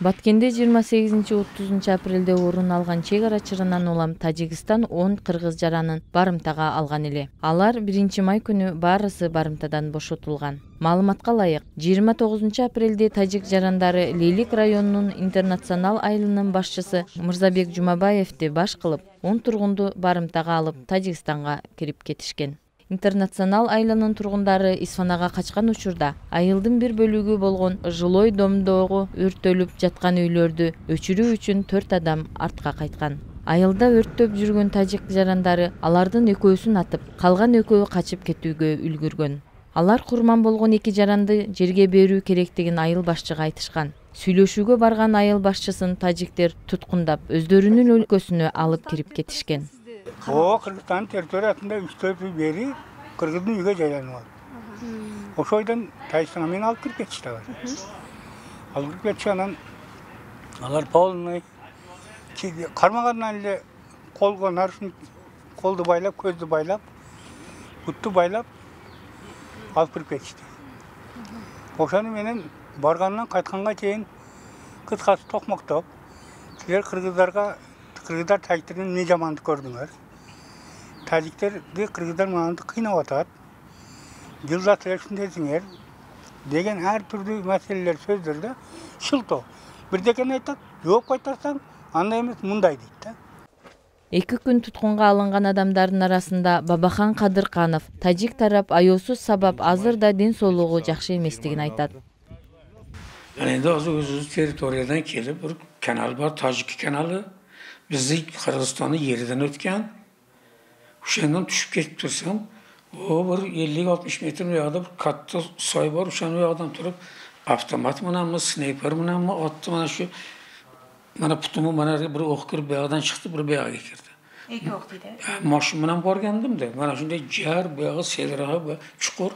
Баткенде 28-30 апрелде орун алган чек ара чырынан улам Тажикстан 10 кыргыз жаранын барымтага алган эле. Алар 1-май күнү баарысы барымтадан бошотулган. Маалыматка ылайык, 29 апрелде тажик жарандары Лейлик районунун интернационал айылынын башчысы Мырзабек Жумабаевди баш кылып, 10 тургунду барымтага алып Тажикстанга кирип кетишкен. Интернационал айылынын тургундары Исфанага качкан учурда айылдын бир бөлүгү болгон жилой домдогу өрттөлүп жаткан үйлөрдү өчүрүү үчүн 4 адам артка кайткан. Айылда өрттөп жүргөн тажик жарандары алардын экөөсүн атып, калган экөө качып кетүүгө үлгүргөн. Алар курман болгон 2 жаранды жерге берүү керектигин айыл башчыга айтышкан. Сүйлөшүүгө барган айыл башчысын тажиктер туткундап, өздөрүнүн өлкөсүнө алып кирип кетишкен. Кыргызстан территориясында 3-4 үй бери кыргыздын үйгө жайланып алды. Ошойдон Тажикстанга мени алып кирип кетишти. Алып кирип кетиши анан алар полный кармагандан эле колго нарушник, колду байлап, көздү байлап, бутту байлап алып кирип кетишти. Ошону менен баргандан кайтканга чейин кыскасы токмоктоп, силер кыргыздар тажиктерден эмне жамандык көрдүңөр? Тажиктерди кыргыздар мынанды кыйнап атат. Жылда ушундайсыңер деген ар түрдүү маселелер сөздөрдө шылтоо. Бирдекени айтат, жооп кайтарсаң, андай эмес мындай дейт да. 2 күн туткунга алынган адамдардын арасында Бабахан Кадырканов, тажик тарап аёсуз сабап азыр да ден соолугу жакшы эместигин айтат. Эndi өзүбүздүн территориядан келип, бир канал бар, Тажик каналы. Bizi Kırgızistan'ın yerden ötken, uşağından düşüp geçip tursam, o bir 50-60 metre uyağda bir katta soy var, uşağın uyağdan turup, avtomat mı, sniper mı, attı bana şu, bana putumu, bana bir okkur beyağdan çıktı, bir beyağa geçirdi. İki ok dedi. Maşınımdan borgendim de, bana şimdi cer, beyağı, selirağı, çukur,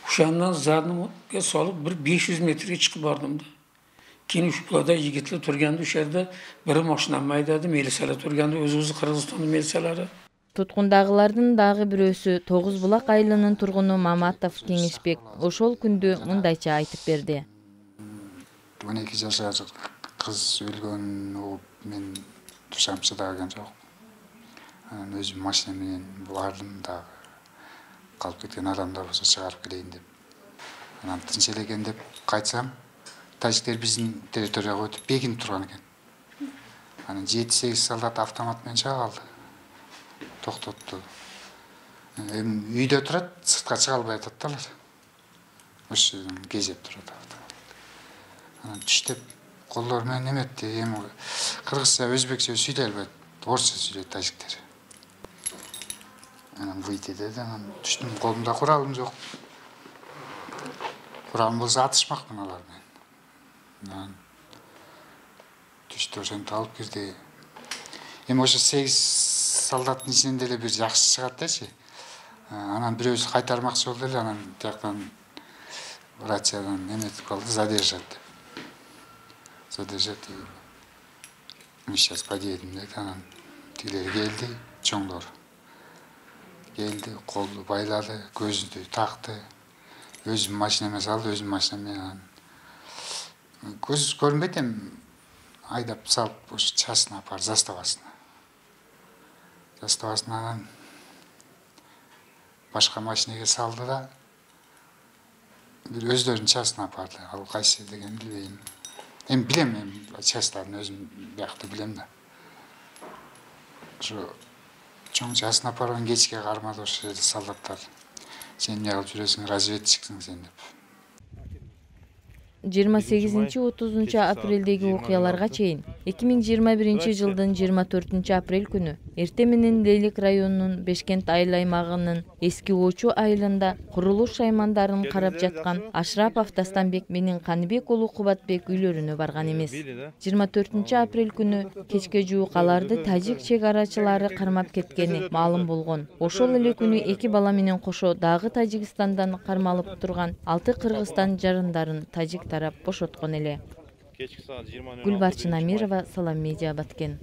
uşağından zadını salıp bir 500 metreye çıkıp vardım da. Keyin ushbuda yigitlar turganda o'sha biri mashinani aydadi, militsiyalar turganda o'z-o'zi Qirg'izistonning militsiyalari. Tutkundagılardın dagы бирөөсү Тогуз Булак айылынын тургуну Маматов Кеңешбек ошол күндү мындайча айтып берди. 12 жашар кыз өлгөн, мен тушамчы дагы жок. Өзүм машина менен бардым дагы. Калып кеткен адамдар болсо чыгарып келейин деп. Анан тынч элекен деп кайтсам, тажиктер биздин территорияга өтүп бекинип турган экен. Анан 7-8 солдат автомат менен чыга калды. Токтотту. Үйдө турат, сыртка чыга албай атат да алар. Ошо кезеп турат. Анан түштөп колдор менен эметти. Эми кыргызча, өзбекче сүйлөй албайт, орусча сүйлөйт тажиктер. Анан выйти деди, анан түштүм, колумда куралым жок. Куралым болсо атышмакмын алар менен. Түштү, ошентип алып кирди. Эми ошо 8 солдаттын ичинен деле бир жакшы чыгат дечи. Анан бирөөсү кайтармакчы болду эле, анан тияктан рациядан эметип калды, задержат деп. Задержат. Мы сейчас подъедем деп, анан тигилер келди, чоңдор. Келди, колду байлады, көзүндү такты. Өзүм машинеме салды, өзүм машинеме көз көрүнбөйт эми айдап салып, ошо частына апар, заставасына. Заставасынан башка машинеге салды да, бир өздөрүнүн частына апарды. Ал кайсы деген билбейм. Эми билем, часттарын өзүм биякта билем да. Ошо чоң частына апарган кечке кармады ошо жерде солдаттар. Сен эмне кылып жүрөсүң, разведчиксиң сен деп. 28-30 апрелдеги окуяларга чейин 2021 жылдын 24 апрель күнү эрте менен Лейлик районунун Бешкент айыл аймагынын эски Очу айылында курулуш шаймандарын карап жаткан Ашрапов Дастанбек менен Каныбек уулу Кубатбек үйлөрүнө барган эмес. 24 апрель күнү кечке жуук аларды тажик чек арачылары кармап кеткени маалым болгон. Ошол эле күнү 2 бала менен кошо дагы Тажикстандан кармалып турган 6 Кыргызстан жарандарын тажик тарап бошоткон эле. Гүлбарчын Амирова, Салам Медиа, Баткен.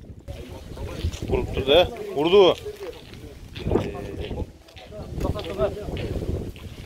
Урду.